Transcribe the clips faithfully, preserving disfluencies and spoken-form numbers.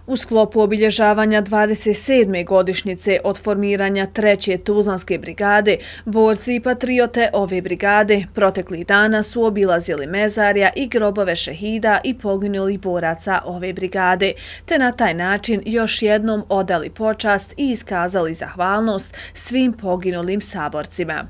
U sklopu obilježavanja dvadeset sedme godišnjice od formiranja treće Tuzlanske brigade, borci i patriote ove brigade proteklih dana su obilazili mezarja i grobove šehida i poginulih boraca ove brigade, te na taj način još jednom odali počast i iskazali zahvalnost svim poginulim saborcima.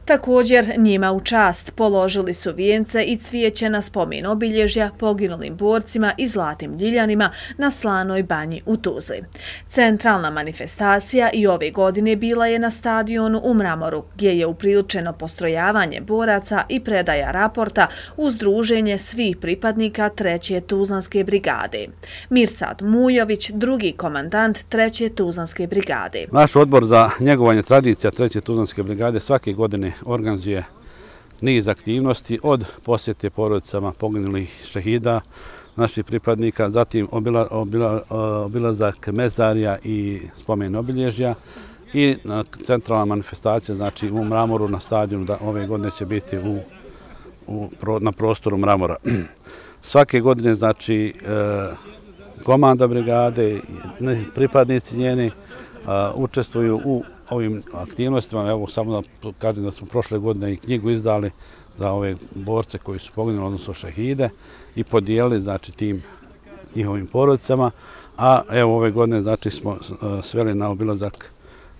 Također, njima u čast položili su vijence i cvijeće na spomen obilježja poginulim borcima i zlatnim ljiljanima na Slanoj banji u Tuzli. Centralna manifestacija i ove godine bila je na stadionu u Mramoru, gdje je upriličeno postrojavanje boraca i predaja raporta uz druženje svih pripadnika treće Tuzlanske brigade. Mirsad Mujović, drugi komandant treće Tuzlanske brigade. Naš odbor za njegovanje tradicija treće Tuzlanske brigade svake godine organizuje niz aktivnosti od posjete porodicama poginulih šehida, naših pripadnika, zatim obila, obila, obilazak mezarja i spomen obilježja i centralna manifestacija, znači u Mramoru na stadionu, da ove godine će biti u, u, na prostoru Mramora. Svake godine, znači, komanda brigade, pripadnici njeni učestvuju u ovim aktivnostima. Evo, samo da kažem da smo prošle godine i knjigu izdali za ove borce koji su poginuli, odnosno šehide, i podijelili, znači, tim njihovim porodicama. A evo, ove godine, znači, smo sveli na obilazak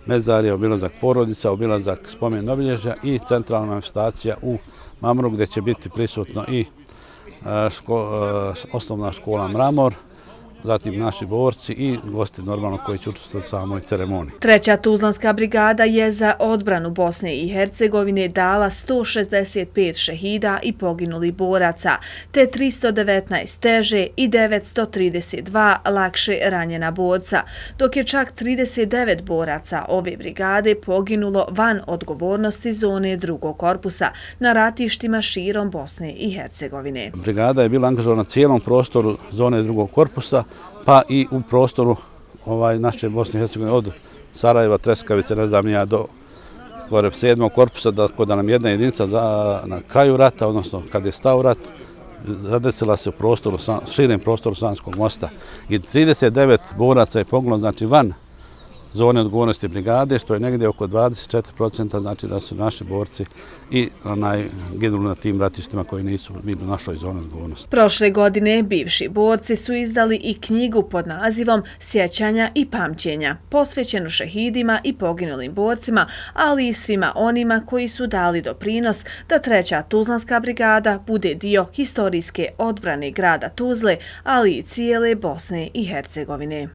mezarja, obilazak porodica, obilazak spomen obilježja i centralna manifestacija u Mramoru, gdje će biti prisutno i ško, osnovna škola Mramor, zatim naši borci i gosti normalno koji će učestvovati u samoj ceremoniji. Treća Tuzlanska brigada je za odbranu Bosne i Hercegovine dala sto šezdeset pet šehida i poginulih boraca, te tristo devetnaest teže i devetsto trideset dva lakše ranjena borca, dok je čak trideset devet boraca ove brigade poginulo van odgovornosti zone drugog korpusa na ratištima širom Bosne i Hercegovine. Brigada je bila angažovana na cijelom prostoru zone drugog korpusa, pa i u prostoru ovaj, naše Bosne i Hercegovine od Sarajeva, Treskavice, ne znam ja, do gore sedmog korpusa, da, da nam jedna jedinica za, na kraju rata, odnosno kad je stao rat, zadesila se u prostoru, širem prostoru Sanskog mosta. I trideset devet boraca je poginulo, znači van zone odgovornosti brigade, što je negdje oko dvadeset četiri posto, znači da su naši borci i onaj, ginuli na tim ratištima koji nisu bili u našoj zoni odgovornosti. Prošle godine bivši borci su izdali i knjigu pod nazivom Sjećanja i pamćenja, posvećenu šehidima i poginulim borcima, ali i svima onima koji su dali doprinos da treća Tuzlanska brigada bude dio historijske odbrane grada Tuzle, ali i cijele Bosne i Hercegovine.